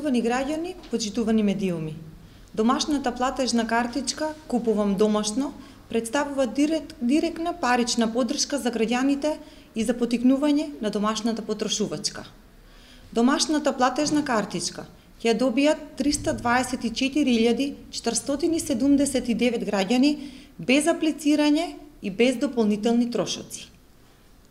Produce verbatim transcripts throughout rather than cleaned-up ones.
Почитувани граѓани, почитувани медиуми. Домашната платежна картичка "Купувам домашно" представува директ, директна парична поддршка за граѓаните и за поттикнување на домашната потрошувачка. Домашната платежна картичка ќе добијат триста дваесет и четири илјади четиристотини и седумдесет и девет граѓани без аплицирање и без дополнителни трошоци.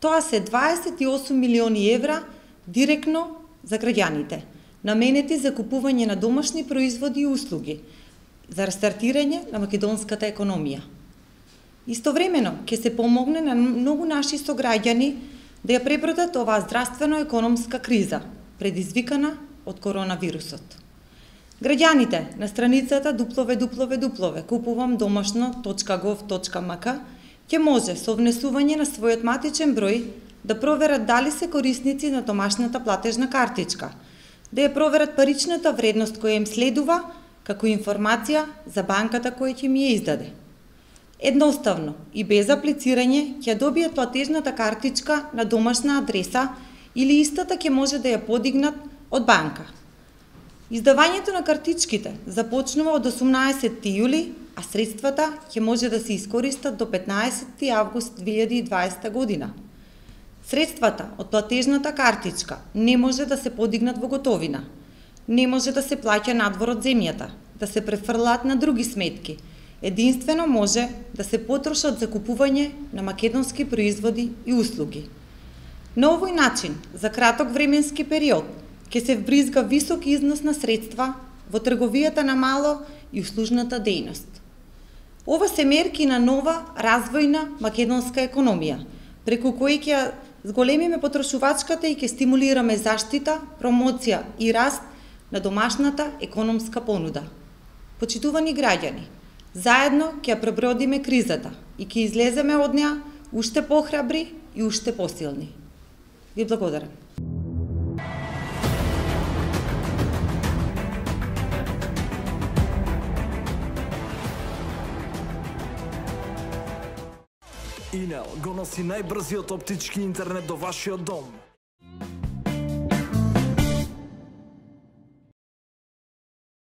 Тоа се дваесет и осум милиони евра директно за граѓаните, наменети за купување на домашни производи и услуги, за рестартирање на македонската економија. Истовремено, ќе се помогне на многу наши сограѓани да ја пребродат оваа здравствено-економска криза, предизвикана од коронавирусот. Граѓаните на страницата дабл ю дабл ю дабл ю точка купувам домашно точка гов точка ем ка ќе може со внесување на својот матичен број да проверат дали се корисници на домашната платежна картичка, да ја проверат паричната вредност која им следува, како информација за банката која ќе ми ја издаде. Едноставно и без аплицирање ќе добијат платежната картичка на домашна адреса или истата ќе може да ја подигнат од банка. Издавањето на картичките започнува од осумнаесетти јули, а средствата ќе може да се искористат до петнаесетти август две илјади и дваесета година. Средствата од платежната картичка не може да се подигнат во готовина, не може да се плаќа надвор од земјата, да се префрлаат на други сметки. Единствено може да се потрошат за купување на македонски производи и услуги. На овој начин, за краток временски период, ќе се вбризга висок износ на средства во трговијата на мало и услужната дејност. Ова се мерки на нова развојна македонска економија, преку кои ќе зголемиме потрошувачката и ќе стимулираме заштита, промоција и раст на домашната економска понуда. Почитувани граѓани, заедно ќе пребродиме кризата и ќе излеземе од неа уште похрабри и уште посилни. Ви благодарам. Инел го носи најбрзиот оптички интернет до вашиот дом.